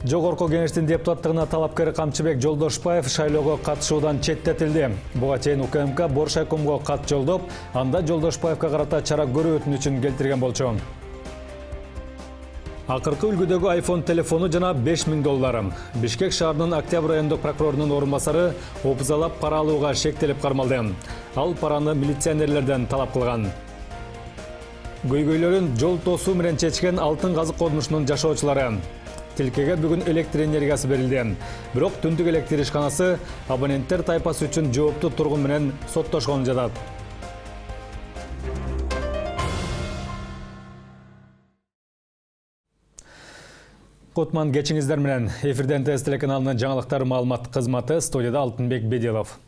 Жогорку кеңештин депутаттыгына талапкер Камчыбек Жолдошбаев шайлоого катышуудан четтетилди. Буга чейин УКМК Боршайкомго кат жолдоп, анда Жолдошбаевга карата чара көрүү өтүнүчүн келтирген болчу. Акыркы үлгүдөгү iPhone телефону жана $5000. Бишкек шаарынын Октябрь райондук прокурорунун орун басары опузалап пара алууга шектелип кармалды. Ал параны милиционерлерден талап кылган. Көйгөйлөрүн жол тосуу менен чечкен Алтын казык корунушунун жашоочулары. Тилкеге бүгүн электр энергиясы берилди. Бирок түндүк электр ишканасы абоненттер тайпасы үчүн жоопту тургун менен соттошконун жатат. Котман кечиңиздер менен эфирден ТС телеканалынын жаңылыктар маалымат кызматы, студияда Алтынбек Бедилов.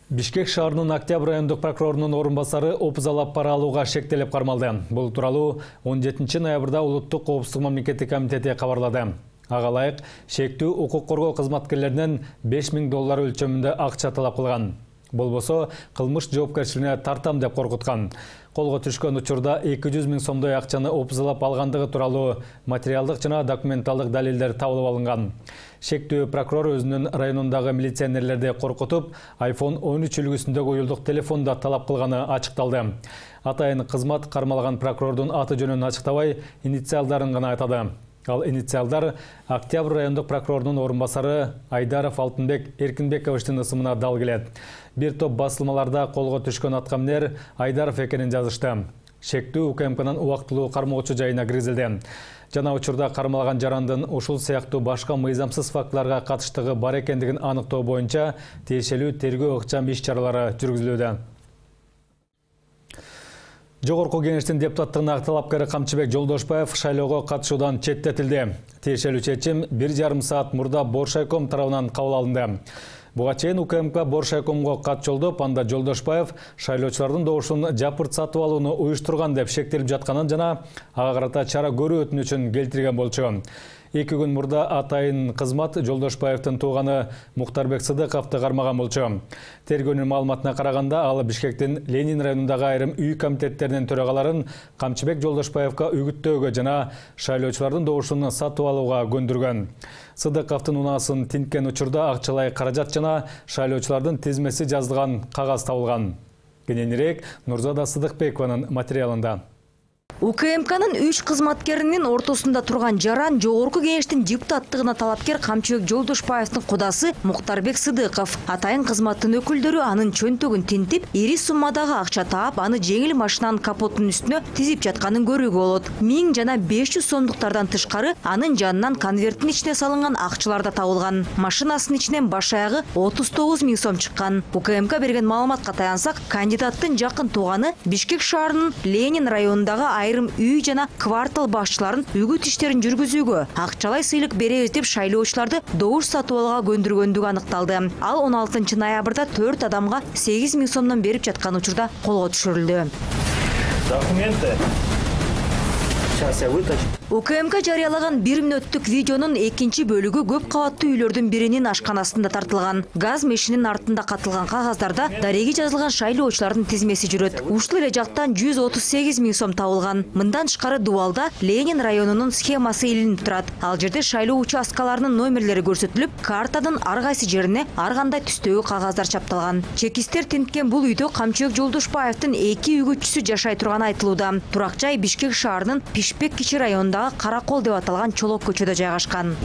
Бишкек шаарынын Октябрь райондук прокурорунун орун басары опузалап пара алууга шектелип кармалды. Бул тууралуу 17 ноябрда Улуттук коопсуздук мамлекеттик комитети кабарлады. Ага ылайык шектүү укук коргоо кызматкерлеринен $5000 өлчөмүндө акча талап кылган. Болбосо кылмыш жоопкерчилигине тартам деп коркуткан. Колго түшкөн учурда 200 000 сомдой акчаны опузалап алгандыгы тууралуу материалдык жана документалдык далилдер табылып алынган. Шектүү прокурор өзүнүн районундагы милиционерлерди коркутуп, iPhone 13 үлгүсүндөгү уюлдук телефонду талап кылганы ачыкталды. Атайын кызмат кармалган прокурордун аты жөнүн ачыктабай, инициалдарын гана айтады. Ал инициалдар Октябрь райондук прокурорунун орун басары Айдаров Алтынбек Эркинбековичтин ысымына дал келет. Бир топ басылмаларда колго түшкөн аткаминер Айдаров экенин жазышты. Шектүү УКМКнын убактылуу кармоочу жайына киргизилди. Жана учурда кармалган жарандын ушул сыяктуу башка мыйзамсыз фактыларга катыштыгы бар экендигин аныктоо боюнча тиешелүү тергөө ыкчам иш-чаралары жүргүзүлүүдө. Жогорку кеңештин депутаттыгына талапкер Камчыбек Жолдошбаев шайлоого катышуудан четтетилди. Тиешелүү чечим 1,5 саат мурда Боршайком тарабынан кабыл алынды. Буга чейин УКМК Боршайкомго кат жолдоп, анда Жолдошбаев шайлоочулардын добушун жапырт сатып алууну уюштурган деп шектелип жатканын жана ага карата чара көрүү өтүнүчүн келтирген болчу. 2 күн мурда атайын кызмат Жолдошбаевдин тууганы Мухтарбек Сыдыковду кармаган болчу. Тергөөнүн маалыматына караганда, ал Бишкектин Ленин районундагы айрым үй комитеттеринин төрагаларын Камчыбек Жолдошбаевга үгүттөөгө жана шайлоочулардын добушун сатып алууга көндүргөн. Сыдыковдун унаасын тинткен учурда акчалай каражат жана шайлоочулардын тизмеси жазылган кагаз табылган. Кененирээк Нурзада Сыдыкбекованын материалында. УКМКнын 3 кызматкеринин ортосунда турган жаран жогорку кеңештин депутаттыгына талапкер Камчыбек Жолдошбаевдин кудасы Мухтарбек Сыдыков. Атайын кызматтын өкүлдөрү анын чөнтөгүн тинтип, ири суммадагы акча таап, аны жеңил машинанын капотунун үстүнө тизип жатканын көрүүгө болот. 1000 жана 500 сомдуктардан тышкары анын жанынан конверттин ичине салынган акчалар да табылган. Машинасынын ичинен баш аягы 39 000 сом чыккан. УКМК берген маалыматка таянсак, кандидаттын жакын тууганы Бишкек шаарынын Ленин районундагы айрым үй жана квартал башчыларын үгүт иштерин жүргүзүүгө акчалай сыйлык беребиз деп шайлоочуларды добуш сатып алууга көндүргөндүгү аныкталды. Ал 16 ноябрда 4 адамга 8 000 сомдон берип жаткан учурда колго түшүрүлдү. Документы. Сейчас я вытащу. УКМК жарыялаган 1 мүнөттүк видеонун экинчи бөлүгү көп кабаттуу үйлөрдүн биринин ашканасында тартылган. Газ мешинин артында катылган кагаздарда дареги жазылган шайлоочулардын тизмеси жүрөт. Ушул эле жактан 138 000 сом табылган. Мындан тышкары Дубалда Ленин районунун схемасы илинип турат. Ал жерде шайлоо участкаларынын номерлери көрсөтүлүп, картанын ар кайсы жерине ар кандай түстөгү кагаздар чапталган. Чекистер тинткен бул үйдө Камчыбек Жолдошбаевдин 2 үгүтчүсү жашай турганы айтылууда. Турак жай Бишкек шаарынын Пишпек кичи районундагы Каракол деп аталган Чолок көчөдө жайгашкан.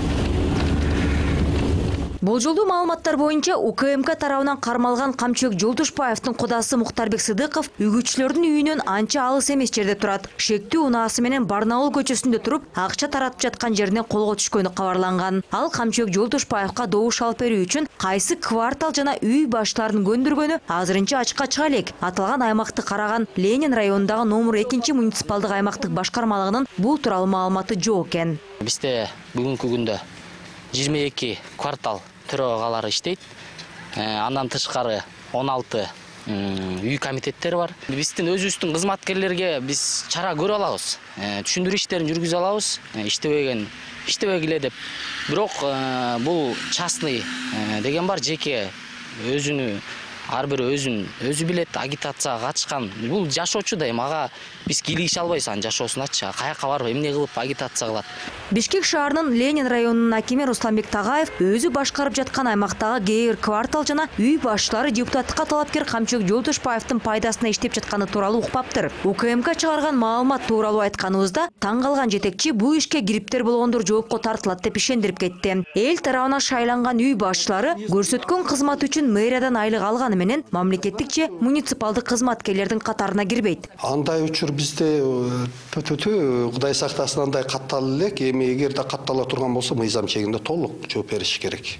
Болжолдуу маалыматтар боюнча УКМК тарабынан кармалган Камчыбек Жолдошбаевдин кудасы Мухтарбек Сыдыков үгүтчүлөрдүн үйүнөн анча алыс эмес жерде турат. Шектүү унаасы менен Барнаул көчөсүндө туруп, акча таратып жаткан жеринен колго түшкөнү кабарланган. Ал Камчыбек Жолдошбаевга добуш алып берүү үчүн кайсы квартал жана үй баштарын көндүргөнү азырынча ачыкка чыга элек. Аталган аймакты караган Ленин районундагы номер 2 муниципалдык аймактык башкармалыгынын бул тууралуу маалыматы жок экен. Бизде бүгүнкү күндө 22 квартал төрагалары иштейт. Андан тышкары 16 үй комитеттери бар. Биздин өзүбүздүн кызматкерлерге биз чара көрө алабыз. Түшүндүрүү иштерин жүргүзө алабыз. Иштебегиле деп. Бирок бул частный деген бар, жеке өзүнү ар бири өзү билет, агитацияга катышкан. Бул жашоочу да эми ага биз кийлигише албайбыз анын жашоосуначы. Каяка барып эмне кылып агитация кылат. Бишкек шаарынын Ленин районунун акими Русланбек Тагаев өзү башкарып жаткан аймактагы кээ бир квартал жана үй башчылары депутаттыкка талапкер Камчыбек Жолдошбаевдин пайдасына иштеп жатканы тууралуу укпаптыр. УКМК чыгарган маалымат тууралуу айтканыбызда таң калган жетекчи бул ишке кириптер болгондор жоопко тартылат деп ишендирип кетти. Эл тарабынан шайланган үй башчылары көрсөткөн кызмат үчүн мэриядан айлык алганы менен мамлекеттик же муниципалдык кызматкерлердин катарына кирбейт. Андай учур бизде Кудай сактасын андай каттала элек. Эми эгерде каттала турган болсо мыйзам чегинде толук жооп бериш керек.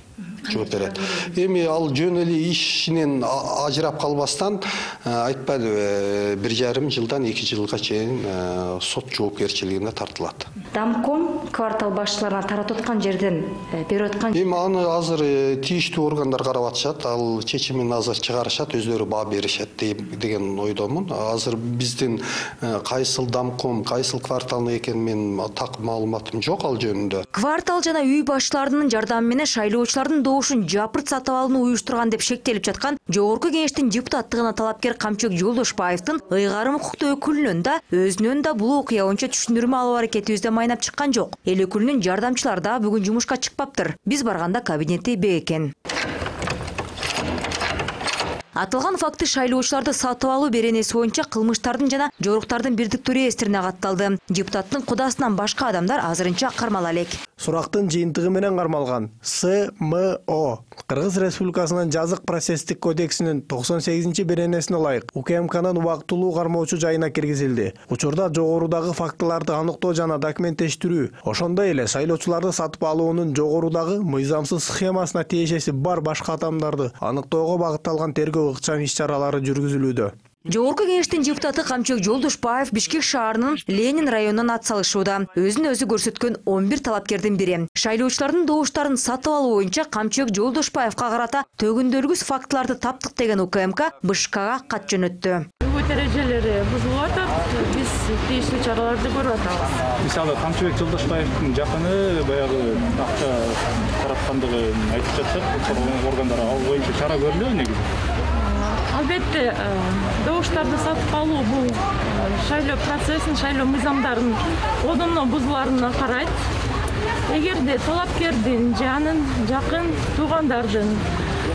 Жооп берет. Эми ал жөн эле ишинен ажырап калбастан айтпадыбы 1,5 жылдан 2 жылга чейин сот жоопкерчилигине тартылат. Дамком квартал башчыларына таратып аткан жерден берип аткан. Эми аны азыр тийиштүү органдар карап атышат. Ал чечимин азыр чыгарышат, өздөрү баа беришет деген ойдомун. Азыр биздин кайсыл Дамком, кайсыл квартал экенин мен так маалыматым жок ал жөнүндө. Квартал жана үй башчыларынын жардамы менен шайлоочулардын добушун жапырт сатып алууну уюштурган деп шектелип жаткан Жогорку Кеңештин депутаттыгына талапкер Камчыбек Жолдошбаевдин ыйгарым укуктуу өкүлүнөн да өзүнөн да бул окуя боюнча түшүндүрмө алуу аракетибизде майнап чыккан жок. Эл өкүлүнүн жардамчылары да бүгүн жумушка чыкпаптыр. Биз барганда кабинети бек экен. Атылган факты шайлоочуларды сатып алуу беренеси боюнча кылмыштардын жана жоруктардын бирдиктүү реестрине катталды. Депутаттын кудасынан башка адамдар азырынча кармала элек. Сурактын жыйынтыгы менен кармалган СМО Кыргыз Республикасынын жазык процесстик кодексинин 98 беренесине ылайык УКМКнын убактылуу кармоочу жайына киргизилди. Учурда жогорудагы фактыларды аныктоо жана документтештирүү, ошондой эле шайлоочуларды сатып алуунун жогорудагы мыйзамсыз схемасына тиешеси бар башка адамдарды аныктоого багытталган тергөө ыкчам иш-чаралары жүргүзүлүүдө. Жогорку Кеңештин депутаты Камчыбек Жолдошбаев Бишкек шаарынын Ленин районунан ат салышууда. Өзүн өзү көрсөткөн 11 талапкердин бири. Шайлоочулардын добуштарын сатып алуу боюнча Камчыбек Жолдошбаевга карата төгүндөлгүс фактыларды таптык деген УКМК БШКга кат жөнөттү. Бүгүн эрежелери бузулуп атат. Биз тийиштүү чараларды көрүп атабыз. Мисалы Камчыбек Жолдошбаевдин жакыны баягы акча тараткандыгын айтып жатышат. Органдар ал боюнча чара көрүлөбү негизи? Албетте, добуштарды сатып алуу бул шайлоо процессин, шайлоо мыйзамдарын одоно бузуларына карайт. Эгерде талапкердин же анын жакын туугандардын,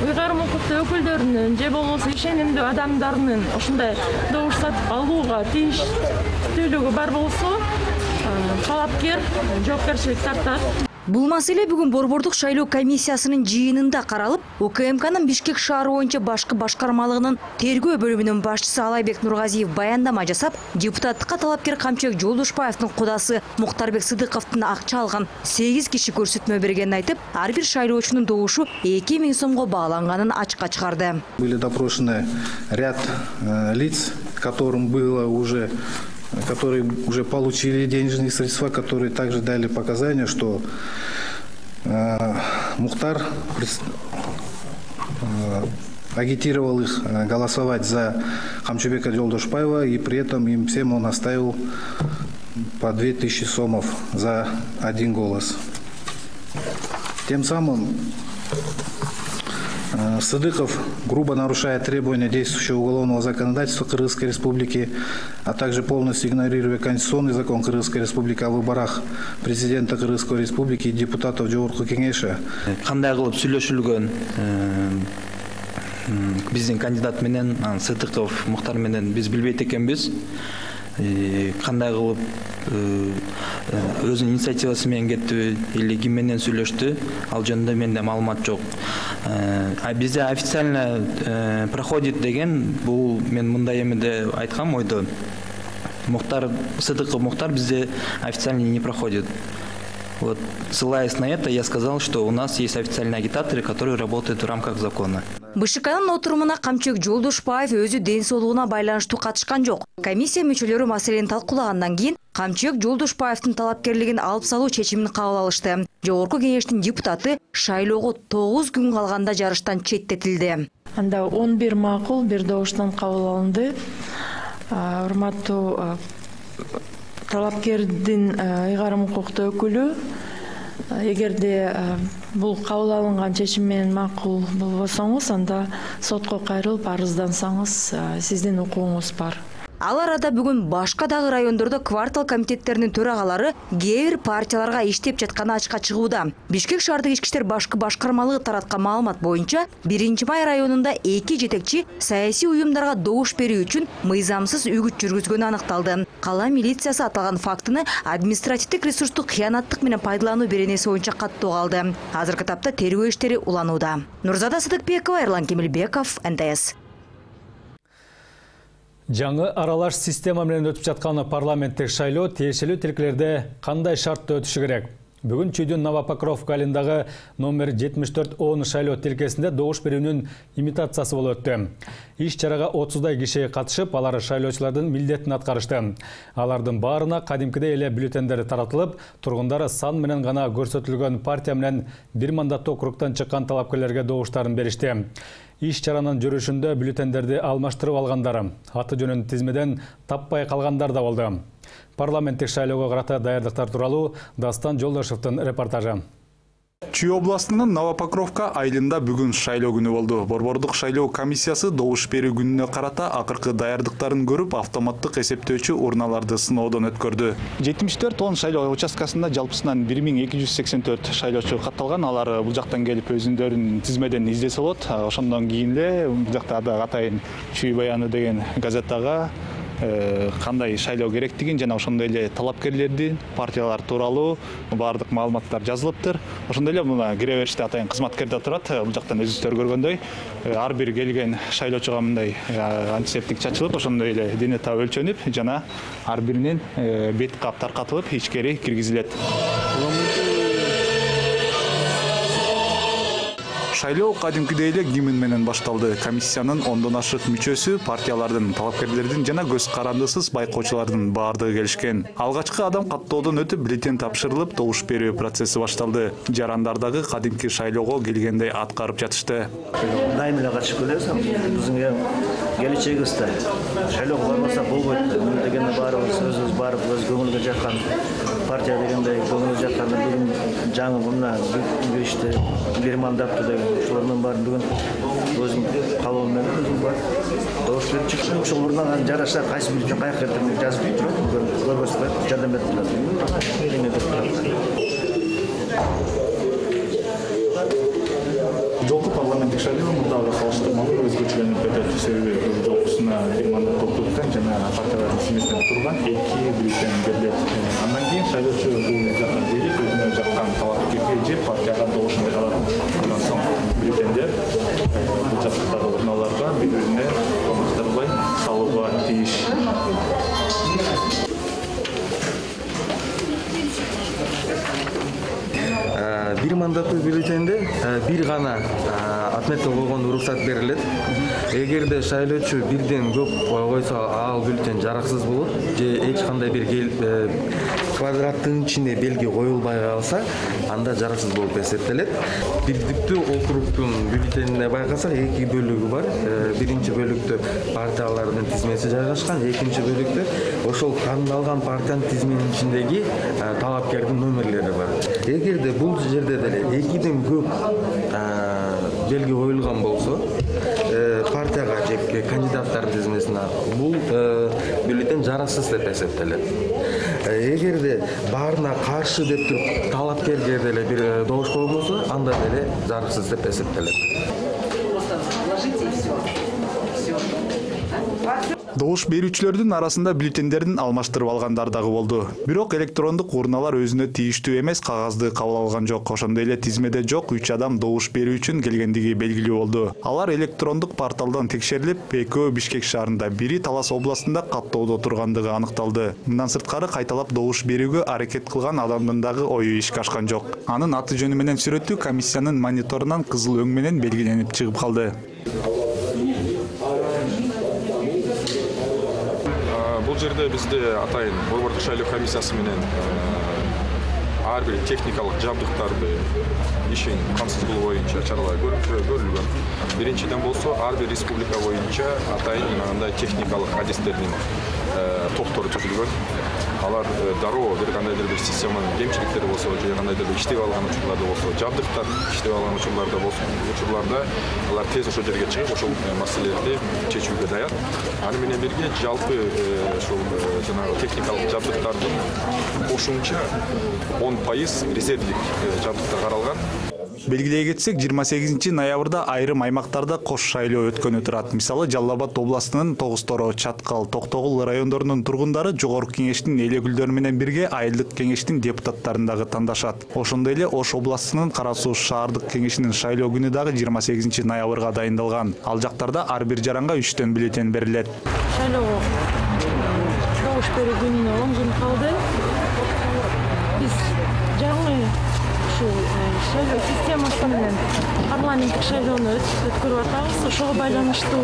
ыйгарым укуктуу өкүлдөрүнүн же болбосо ишенимдүү адамдарынын ушундай добуш сатып алууга тийиштүүлүгү бар болсо, талапкер жоопкерчилик тартат. Бул маселе бүгүн Борбордук шайлоо комиссиясынын жыйынында каралып, УКМКнын Бишкек шаары боюнча башкы башкармалыгынын тергөө бөлүмүнүн башчысы Алайбек Нургазиев баяндама жасап, депутаттыкка талапкер Камчыбек Жолдошбаевдин кудасы Муктарбек Сыдыковдун акча алган 8 киши көрсөтмө бергенин айтып, ар бир шайлоочунун добушу 2000 сомго бааланганын ачыкка чыгарды. Были допрошены ряд лиц, которые уже получили денежные средства, которые также дали показания, что Мухтар агитировал их голосовать за Камчыбека Жолдошбаева, и при этом им всем он оставил по 2000 сомов за один голос. Тем самым Сыдыков грубо нарушает требования действующего уголовного законодательства Кыргызской Республики, а также полностью игнорируя Конституционный закон Кыргызской Республики о выборах президента Кыргызской Республики и депутатов Жогорку Кеңеши. Кандай кылып сүйлөшүлгөн биздин кандидат менен Сыдыков Мухтар менен биз билбейт экенбиз. Кандай кылып өзүнүн инициативасы менен кеттиби или ким менен сүйлөштү, ал жөнүндө менде маалымат жок. Бизде официально проходит деген, бул мен мындай эмеде айткам ойдо. Сыдыков Мухтар бизде официально не проходит. Вот, ссылаясь на это, я сказал, что у нас есть официальные агитаторы, которые работают в рамках закона. БШКнын отурумуна Камчыбек Жолдошбаев өзү ден соолугуна байланыштуу катышкан жок. Комиссия мүчөлөрү маселени талкуулагандан кийин Камчыбек Жолдошбаевдин талапкерлигин алып салуу чечимин кабыл алышты. Жогорку Кеңештин депутаты шайлоого 9 күн калганда жарыштан четтетилди. Анда 11 макул, бир добуштан кабыл алынды. Урматтуу талапкердин ыйгарым укуктуу өкүлү эгерде бул кабыл алынган чечим менен макул болбосоңуз, анда сотко кайрылып арыздансаңыз, сиздин укугуңуз бар. Ал арада бүгүн башка дагы райондордо квартал комитеттеринин төрагалары кээ бир партияларга иштеп жатканы ачыкка чыгууда. Бишкек шаардык ички иштер башкы башкармалыгы тараткан маалымат боюнча, 1-май районунда 2 жетекчи саясий уюмдарга добуш берүү үчүн мыйзамсыз үгүт жүргүзгөнү аныкталды. Кала милициясы аталган фактыны административдик ресурстук кыянаттык менен пайдалануу беренеси боюнча каттоого алды. Азыркы тапта тергөө иштери уланууда. Нурзада Сыдыкбекова, Эрлан Кемелбеков, НТС. Жаңы аралаш система менен өтүп жаткан парламенттик шайлоо тиешелүү тилкелерде кандай шартта өтүшү керек? Бүгүн Чүйдүн Новопокровка айылындагы номер 74-10 шайлоо тилкесинде добуш берүүнүн имитациясы болуп өттү. Иш чарага 30дай киши катышып, алар шайлоочулардын милдетин аткарышты. Алардын баарына кадимкидей эле бюллетендер таратылып, тургундар сан менен гана көрсөтүлгөн партия менен бир мандаттуу округтан чыккан талапкерлерге добуштарын беришти. Иш чаранын жүрүшүндө бюллетендерди алмаштырып алгандар, аты жөнүн тизмеден таппай калгандар да болду. Парламенттик шайлоого карата даярдыктар тууралуу Дастан Жолдошевдин репортажы. Чүй областынын Новопокровка айылында бүгүн шайлоо күнү болду. Борбордук шайлоо комиссиясы добуш берүү күнүнө карата акыркы даярдыктарын көрүп, автоматтык эсептөөчү урналарды сыноодон өткөрдү. 74-10 шайлоо участкасында жалпысынан 1284 шайлоочу катталган. Алар бул жактан келип өзүндөрүнүн тизмеден издесе болот. Ошондон кийин эле бул жакта атайын Чүй баяны деген газетага кандай шайлоо керектигин жана ошондой эле талапкерлердин партиялар тууралуу баардык маалыматтар жазылыптыр. Ошондой эле мына кире бериште атайын кызматкер да турат. Бул жактан өзүңүздөр көргөндөй ар бир келген шайлоочуга мындай антисептик чачылып, ошондой эле дене табы өлчөнүп, жана ар биринин бет кап таркатылып ичкери киргизилет. Шайлоо кадимкидей эле гимн менен башталды. Комиссиянын 10дон ашык мүчөсү партиялардын, талапкерлердин жана көз карандысыз байкоочулардын баардыгы келишкен. Алгачкы адам каттоодон өтүп, бюллетен тапшырылып, добуш берүү процесси башталды. Жарандардагы кадимки шайлоого келгендей аткарып жатышты. Дайым эле катышып келебиз. Биздин келечегибизде шайлоого барбасак болбойт. Дегенде баарыбыз өзүбүз барып, өз көңүлгө жаккан партия дегендей көңүлгө жаккан бүгүн жаңы мына иште бир мандаттуу деген ошолордун баарын бүгүн өзүм калоом менен өзүм бар. Добуш берип чыктым. Ошол урнага жараша кайсы бюллетен каяка кетип жазып турат. Көргөзүп жардам берип турат. Жолку парламенттик шайлоо мындагы салыштырмалуу өзгөчөлөнүп кетет. Себеби жолкусуна бир мандаттуу округтан жана партиялардын тизмесинен турган 2 бюллетен берилет. Андан кийин шайлоочу бул жакка келип, өзүнө жаккан талапкерге же партияга добуш берет. Андан соң бюллетендер бул жактагы урналарга бири-бирине алмаштырылбай салууга тийиш. Бир мандаттуу бюллетенде бир гана отметка койгон уруксат берилет. Эгерде шайлоочу бирден көп койсо, ал бюллетен жараксыз болот же эч кандай бир квадраттын ичине белги коюлбай калса, анда жараксыз болуп эсептелет. Бирдиктүү округтун бюллетенине байкасак, 2 бөлүгү бар. Биринчи бөлүктө партиялардын тизмеси жайгашкан, экинчи бөлүктө ошол тандалган партиянын тизменин ичиндеги талапкердин номерлери бар. Эгерде бул жерде деле 2ден көп белги коюлган болсо, партияга же кандидаттардын тизмесине бул бюллетен жараксыз деп эсептелет. Эгерде баарына каршы деп туруп талапкерге деле бир добуш койбосо, анда деле жараксыз деп эсептелет. Добуш берүүчүлөрдүн арасында бюллетендердин алмаштырып алгандар дагы болду. Бирок электрондук урналар өзүнө тийиштүү эмес кагазды кабыл алган жок. Ошондой эле тизмеде жок 3 адам добуш берүү үчүн келгендиги белгилүү болду. Алар электрондук порталдан текшерилип, экөө Бишкек шаарында, бири Талас областында каттоодо тургандыгы аныкталды. Мындан сырткары кайталап добуш берүүгө аракет кылган адамдын дагы ою ишке ашкан жок. Анын аты жөнү менен сүрөтү комиссиянын мониторунан кызыл өң менен белгиленип чыгып калды. Бул жерде бизде атайын борбордук шайлоо комиссиясы менен ар бир техникалык жабдыктарды ишин камсыз кылуу боюнча чаралар көрүлгөн. Биринчиден болсо ар бир республика боюнча атайын мындай техникалык адистердин топтору түзүлгөн. алар дароо бир кандайдыр бир системанын кемчиликтери болсо же кандайдыр бир иштебей алган учурларда болсо, жабдыктар иштебей алган учурларда алар тез ошол жерге чыгып ошол маселелерди чечүүгө даяр. Аны менен бирге жалпы ошол жанагы техникалык жабдыктардын кошумча 10% резервдик жабдыктар каралган. Белгилей кетсек, 28 ноябрда айрым аймактарда кош шайлоо өткөнү турат. Мисалы, Жалал Абад областынын Тогуз-Торо, Чаткал, Токтогул райондорунун тургундары Жогорку кеңештин эл өкүлдөрү менен бирге айылдык кеңештин депутаттарын дагы тандашат. Ошондой эле Ош областынын Кара Суу шаардык кеңешинин шайлоо күнү дагы 28 ноябрга дайындалган. Ал жактарда ар бир жаранга 3 бюллетень берилет. Шайлоо добуш берүү күнүнө 10 күн калды. Биз жаңы шайлоо системасы менен парламенттик шайлоону өткөрүп атабыз. Ошого байланыштуу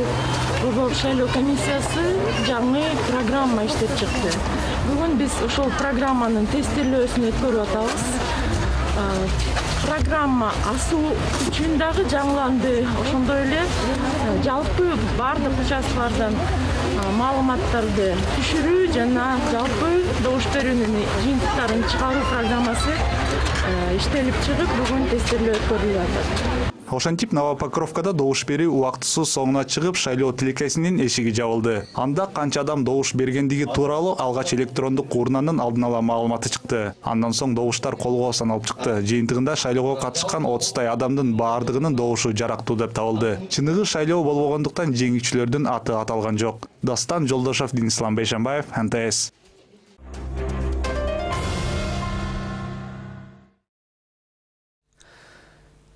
Борбордук шайлоо комиссиясы жаңы программа иштеп чыкты. Бүгүн биз ошол программанын тестирлөөсүн өткөрүп атабыз. Программа асуу үчүн дагы жаңыланды. Ошондой эле жалпы бардык участкалардан маалыматтарды түшүрүү жана жалпы добуш берүүнүн жыйынтыктарын чыгаруу программасы иштелип чыгып, бүгүн тестирлөө өткөрүлүп атат. Ошентип Новопокровкада добуш берүү убактысыз соңуна чыгып, шайлоо тилекесинин эшиги жабылды. Анда канча адам добуш бергендиги тууралуу алгач электрондук урнанын алдын ала маалыматы чыкты. Андан соң добуштар колго саналып чыкты. Жыйынтыгында шайлоого катышкан 30 адамдын баардыгынын добушу жарактуу деп табылды. Чыныгы шайлоо болбогондуктан жеңүүчүлөрдүн аты аталган жок. Дастан Жолдошов, Денислам Бейшенбаев, НТС.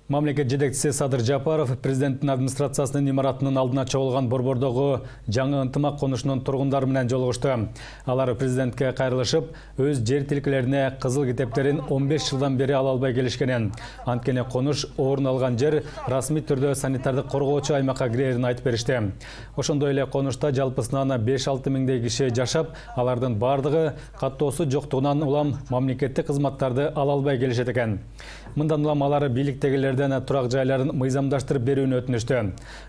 Мамлекет жетекчиси Садыр Жапаров президенттин администрациясынын имаратынын алдына чогулган Борбордогу жаңы ынтымак конушунун тургундары менен жолугушту. Алар президентке кайрылышып, өз жер тилкелерине кызыл китептерин 15 жылдан бери ала албай келишкенин, анткени конуш орун алган жер расмий түрдө санитардык коргоочу аймакка кирерин айтып беришти. Ошондой эле конушта жалпысынан 5-6 миңдей киши жашап, алардын бардыгы каттоосу жоктугунан улам мамлекеттик кызматтарды ала албай келишет экен. Мындан улам алар бийликтегилер турак жайларын мыйзамдаштырып берүүнү өтүнүштү.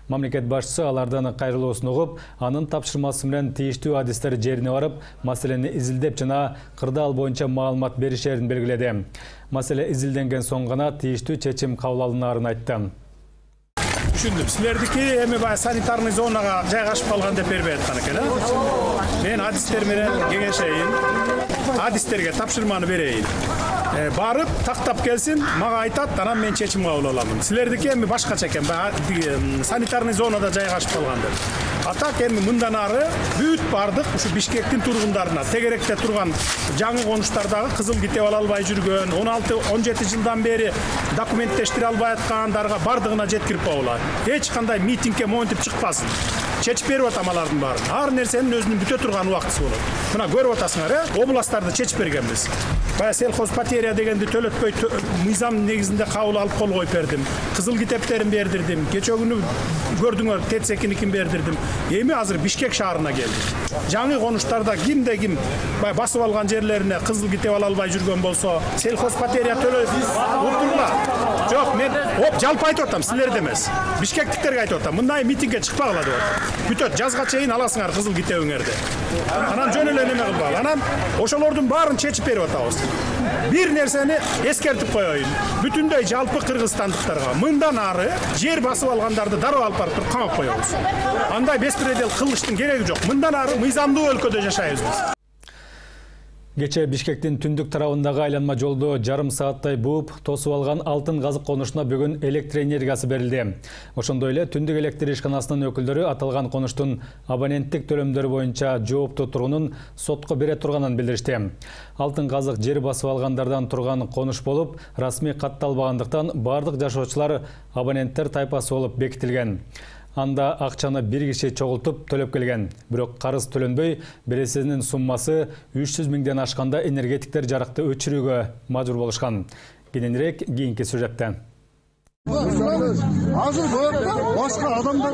Мамлекет башчысы алардан кайрылуусун угуп, анын тапшырмасы менен тийиштүү адистер жерине барып, маселени изилдеп жана кырдаал боюнча маалымат беришерин белгиледи. Маселе изилденген соң гана тийиштүү чечим кабыл алынаарын айтты. Түшүндүм. Силердики эми баягы санитарный зонага жайгашып калган деп бербей аткан экен, э? Мен адистер менен кеңешейин, адистерге тапшырманы берейин. Барып тактап келсин, мага айтат, анан мен чечим кабыл алам. Силердики эми башкача экен, санитарный зонада жайгашып калган деп. Атак эми мындан ары бүт бардык ушу Бишкектин тургундарына, тегеректе турган жаңы конуштардагы кызыл китеп ала албай жүргөн, 16-17 жылдан бери документтештире албай аткандарга бардыгына жеткирип коелат. Эч кандай митингге монтип чыкпасын. Чечип берип атам алардын баарын. Ар нерсенин өзүнүн бүтө турган убактысы болот. Мына көрүп атасыңар, областтарды чечип бергенбиз. Бая сельхоз потеря дегенди төлөтпөй мыйзам негизинде кабыл алып кол коюп бердим. Кызыл китептерин бердирдим. Кече күнү көрдүңөр, Тетсекиникин бердирдим. Эми азыр Бишкек шаарына келдим. Жаңы конуштарда кимде ким басып алган жерлерине кызыл китеп ала албай жүргөн болсо, сельхоз потеря төлөп отургула. Жок, мен жалпы айтып атам, силерде эмес. Бишкектиктерге айтып атам. Мындай митингге чыкпагыла деп атам. Бүтөт, жазга чейин аласыңар кызыл китебиңерди. Анан жөн эле неме кылбагыла. Анан ошолордун баарын чечип берип атабыз. Бир нерсени эскертип коеюн. Бүтүндөй жалпы кыргызстандыктарга мындан ары жер басып алгандарды дароо алып барып туруп камап коебуз. Андай беспредел кылыштын кереги жок. Мындан ары мыйзамдуу өлкөдө жашайбыз биз. Кече Бишкектин түндүк тарабындагы айланма жолду жарым сааттай бууп, тосуп алган алтын газык конушуна бүгүн электр энергиясы берилди. Ошондой эле түндүк электр ишканасынын өкүлдөрү аталган конуштун абоненттик төлөмдөрү боюнча жооптуу тургунун сотко бере турганын билдиришти. Алтын газык жер басып алгандардан турган конуш болуп, расмий катталбагандыктан бардык жашоочулар абоненттер тайпасы болуп бекитилген. Анда акчаны бир киши чогултуп төлөп келген. Бирок карыз төлөнбөй, бересинин суммасы 300 миңден ашканда энергетиктер жарыкты өчүрүүгө мажбур болушкан. Кененирээк кийинки сюжетте. Азыр башка адамдар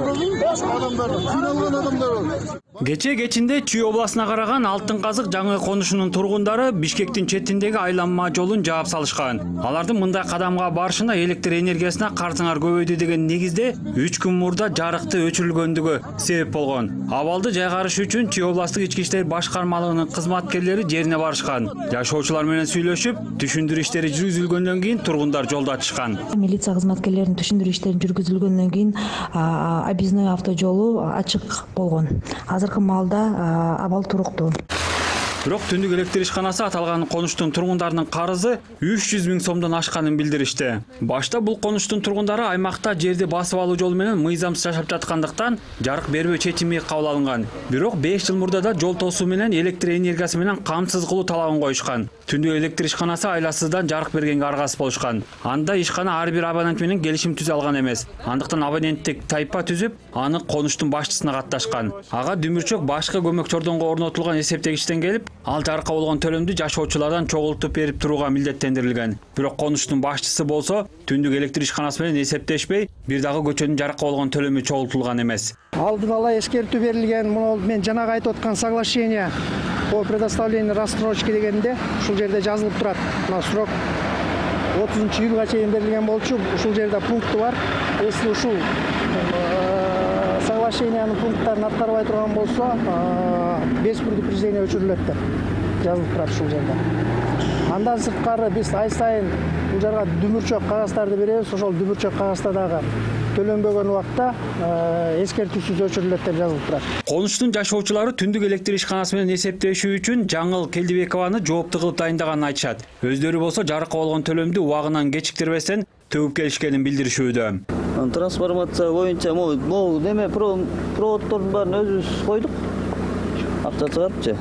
кыйналган адамдар бар. Кече кечинде Чүй областына караган Алтын Казык жаңы конушунун тургундары Бишкектин четиндеги айланма жолун жаап салышкан. Алардын мындай кадамга барышына электр энергиясына карызыңар көбөйдү деген негизде 3 күн мурда жарыкты өчүрүлгөндүгү себеп болгон. Абалды жайгарыш үчүн Чүй областык ички иштер башкармалыгынын кызматкерлери жерине барышкан. Жашоочулар менен сүйлөшүп, түшүндүрүү иштери жүргүзүлгөндөн кийин тургундар жолдо атышкан. Милиция кызматкерлеринин түшүндүрүү иштерин жүргүзүлгөндөн кийин объездной автожолу ачык болгон. Азыркы маалда абал туруктуу. Бирок түндүк электр ишканасы аталган конуштун тургундарынын карызы 300 000 сомдон ашканын билдиришти. Башта бул конуштун тургундары аймакта жерди басып алуу жолу менен мыйзамсыз жашап жаткандыктан жарык бербөө чечими кабыл алынган. Бирок 5 жыл мурда да жол тосуу менен электр энергиясы менен камсыз кылуу талабын коюшкан. Түндүк электр ишканасы айласыздан жарык бергенге аргасыз болушкан. Анда ишкана ар бир абонент менен келишим түзө алган эмес. Андыктан абоненттик тайпа түзүп, аны конуштун башчысына катташкан. Ага дүмүрчөк башкы көмөк чордонго орнотулган эсептегичтен келип, ал жарыкка болгон төлөмдү жашоочулардан чогултуп берип турууга милдеттендирилген. Бирок конуштун башчысы болсо түндүк электр ишканасы менен эсептешпей, бир дагы көчөнүн жарыкка болгон төлөмү чогултулган эмес. Алдын ала эскертүү берилген, муну мен жанагы айтып аткан соглашение по предоставлению рассрочки дегенде ушул жерде жазылып турат. Мына срок 30-июлга чейин берилген болчу. Ушул жерде пункты бар. Если ушул соглашениянын пункттарын аткарбай турган болсо, без предупреждения өчүрүлөт деп жазылып турат ушул жерде. Андан сырткары биз ай сайын бул жерге дүмүрчөк кагаздарды беребиз. Ошол дүмүрчөк кагазда дагы төлөнбөгөн убакта эскертүүсүз өчүрүлөт деп жазылып турат. Конуштун жашоочулары түндүк электр ишканасы менен эсептешүү үчүн Жаңыл Келдибекованы жоопту кылып дайындаганын айтышат. Өздөрү болсо жарыкка болгон төлөмдү убагынан кечиктирбестен төгүп келишкенин билдиришүүдө. Трансформация боюнча могу неме проводдордун баарын өзүбүз койдук. Акча чыгарыпчы.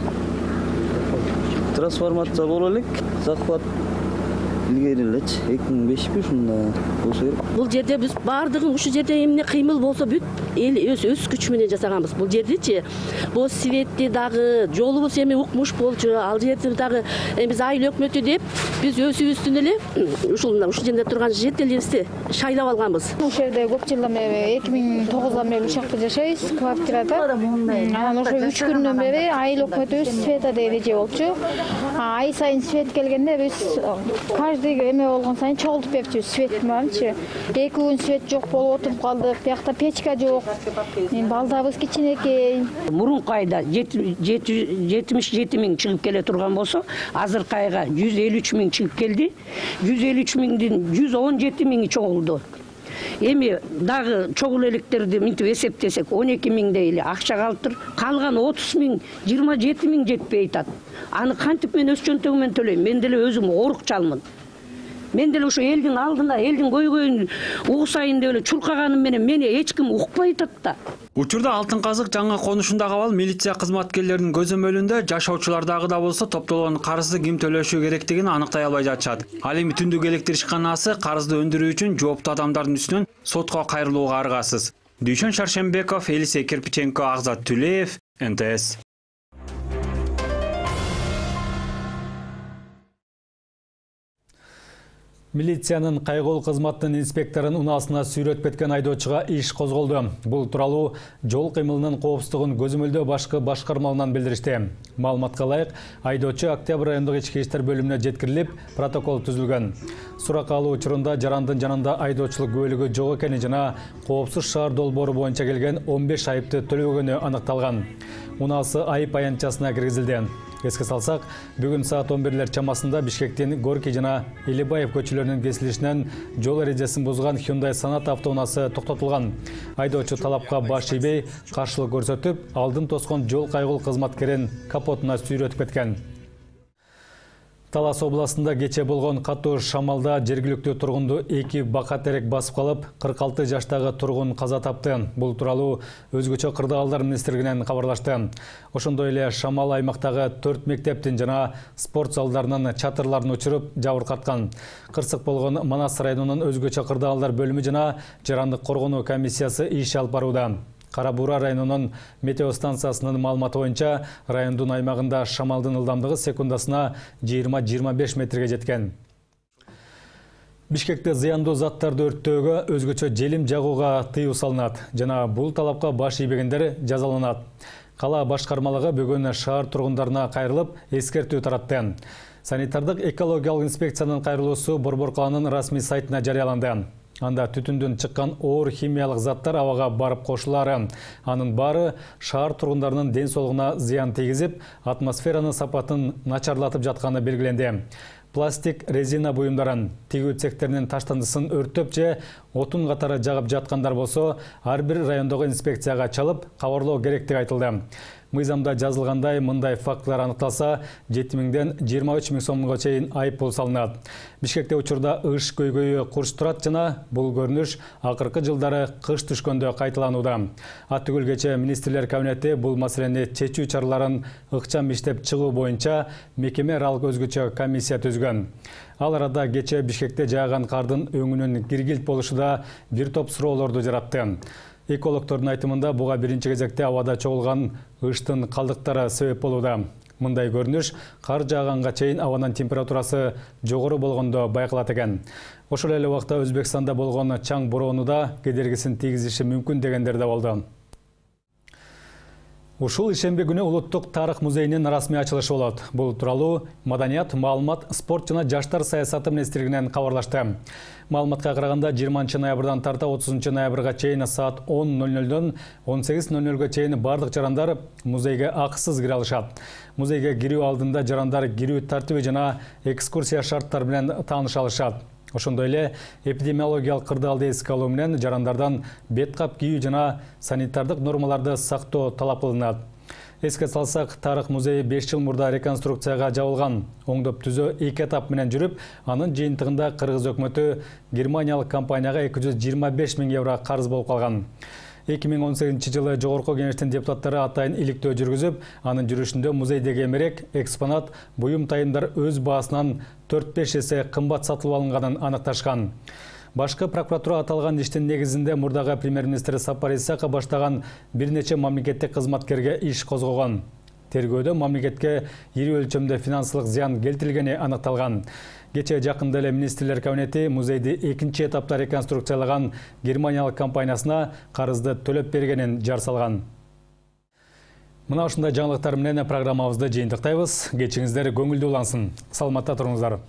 Трансформация боло элек, захват илгери элечи 2005 ушунда болсо керек. Бул жерде биз баардыгын ушул жерде эмне кыймыл болсо бүт эл өз күч менен жасаганбыз. Бул жердечи бул светти дагы жолубуз эми укмуш болчу, ал жерде дагы биз айыл өкмөтү деп биз өзүбүздүн эле ушул жерде турган жителибизди шайлап алганбыз. Ушул жерде көп жылдан бери 2009 бери ушул жакта жашайбыз, квартирада. Анан ошо 3 күндөн бери айыл өкмөтүбүз света деп эже болчу. Ай сайын свет келгенде биз каждый эме болгон сайын чогултуп берчүбүз свет мененчи. 2 күн свет жок болуп отуруп калдык. Биякта печка жок. Балдабыз кичинекей. Мурунку айда 77 миң чыгып келе турган болсо, азыркы айга 153 миң чыгып келди. 153 миңдин 117 миңи чогулду. Эми дагы чогул электерди мынтип эсептесек 12 миңдей эле акча калыптыр. Калган 30 миң, 27 миң жетпей атат. Аны кантип мен өз чөнтөгүм менен төлөйм? Мен деле өзүм орукчалмын. Мен деле ошо элдин алдында, элдин көйгөйүн угусайын деп эле чуркаганым менен мени эч ким укпай атат да. Учурда Алтын Казык жаңы конушундагы абал милиция кызматкерлеринин көзөмөлүндө жашоочулардагы да болсо топтолгон карызды ким төлөшү керектигин аныктай албай жатышат. Ал эми түндүк электр ишканасы карызды өндүрүү үчүн жооптуу адамдардын үстүнөн сотко кайрылууга аргасыз. Дүйшөн Шаршенбеков, Элисей Кирпиченко, Агзат Түлеев, НТС. Милициянын кайгылуу кызматтын инспекторун унаасына сүйрөтүп кеткен айдоочуга иш козголду. Бул тууралуу жол кыймылынын коопсуздугун көзөмөлдөө башкы башкармалынан билдиришти. Маалыматка ылайык, айдоочу Октябрь райондук ички иштер бөлүмүнө жеткирилип, протокол түзүлгөн. Сурак алуу учурунда жарандын жанында айдоочулук күбөлүгү жок экени жана коопсуз шаар долбоору боюнча келген 15 айыпты төлөбөгөнү аныкталган. Унаасы айып аянтчасына киргизилди. Эске салсак, бүгүн саат 11 чамасында Бишкектин Горький жана Элибаев көчөлөрүнүн кесилишинен жол эрежесин бузган Hyundai Sonata автоунаасы токтотулган. Айдоочу талапка баш ийбей, каршылык көрсөтүп, алдын тоскон жол кайгылуу кызматкерин капотуна сүйрөтүп кеткен. Талас областында кече болгон катуу шамалда жергиликтүү тургунду 2 бака терек басып калып, 46 жаштагы тургун каза тапты. Бул тууралуу өзгөчө кырдаалдар министрлигинен кабарлашты. Ошондой эле шамал аймактагы 4 мектептин жана спорт залдарынын чатырларын учуруп жабыркаткан. Кырсык болгон Манас районунун өзгөчө кырдаалдар бөлүмү жана жарандык коргонуу комиссиясы иш алып барууда. Кара Буура районунун метеостанциясынын маалыматы боюнча, райондун аймагында шамалдын ылдамдыгы секундасына 20-25 метрге жеткен. Бишкекте зыяндуу заттарды өрттөөгө, өзгөчө желим жагууга тыюу салынат жана бул талапка баш ийбегендер жазаланат. Кала башкармалыгы бүгүн шаар тургундарына кайрылып эскертүү таратты. Санитардык экологиялык инспекциянын кайрылуусу Борбор каланын расмий сайтына жарыяланды. Анда түтүндөн чыккан оор химиялык заттар абага барып кошулары. Анын баары шаар тургундарынын ден соолугуна зыян тийгизип, атмосферанын сапатын начарлатып жатканы белгиленди. Пластик, резина буюмдарын, тигүү цехтеринин таштандысын өрттөп же отун катары жагып жаткандар болсо, ар бир райондогу инспекцияга чалып кабарлоо керектиги айтылды. Мыйзамда жазылгандай мындай фактылар аныкталса, 7000ден 23000 сомго чейин айыппул салынат. Бишкекте учурда ыш көйгөйү курч турат жана бул көрүнүш акыркы жылдары кыш түшкөндө кайталанууда. Аттүгүл кечээ министрлер кабинети бул маселени чечүү чараларын ыкчам иштеп чыгуу боюнча мекеме аралык өзгөчө комиссия түзгөн. Ал арада кечээ Бишкекте жааган кардын өңүнүн киргилт болушу да бир топ суроолорду жаратты. Экологтордун айтымында буга биринчи кезекте абада чогулган ыштын калдыктары себеп болууда. Мындай көрүнүш кар жааганга чейин абанын температурасы жогору болгондо байкалат экен. Ошол эле убакта Өзбекстанда болгон чаң бороону да кедергисин тийгизиши мүмкүн дегендер да болду. Ушул ишемби күнү Улуттук тарых музейинин расмий ачылышы болот. Бул тууралуу Маданият, маалымат, спорт жана жаштар саясаты министрлигинен кабарлашты. Маалыматка караганда 20 ноябрдан тарта 30 ноябрга чейин саат 10:00дон 18:00га чейин бардык жарандар музейге акысыз кире алышат. Музейге кирүү алдында жарандар кирүү тартиби жана экскурсия шарттары менен тааныша алышат. Ошондой эле эпидемиологиялык кырдаалды эске алуу менен жарандардан бет кап кийүү жана санитардык нормаларды сактоо талап кылынат. Эске салсак, тарых музейи 5 жыл мурда реконструкцияга жабылган. Оңдоп түзөө 2 этап менен жүрүп, анын жыйынтыгында Кыргыз өкмөтү германиялык компанияга 225 000 евро карыз болуп калган. 2018-жылы Жогорку кеңештин депутаттары атайын иликтөө жүргүзүп, анын жүрүшүндө музейдеги эмерек, экспонат, буюм тайымдар өз баасынан 4-5 эсе кымбат сатылып алынганын аныкташкан. Башкы прокуратура аталган иштин негизинде мурдагы премьер-министр Сапар Исаков баштаган бир нече мамлекеттик кызматкерге иш козгогон. Тергөөдө мамлекетке ири өлчөмдө финансылык зыян келтирилгени аныкталган. Кечээ жакында эле министрлер кабинети музейди 2 этапта реконструкциялаган германиялык компаниясына карызды төлөп бергенин жар салган. Мына ушундай жаңылыктар менен программабызды жыйынтыктайбыз. Кечиңиздер көңүлдүү улансын. Саламатта туруңуздар.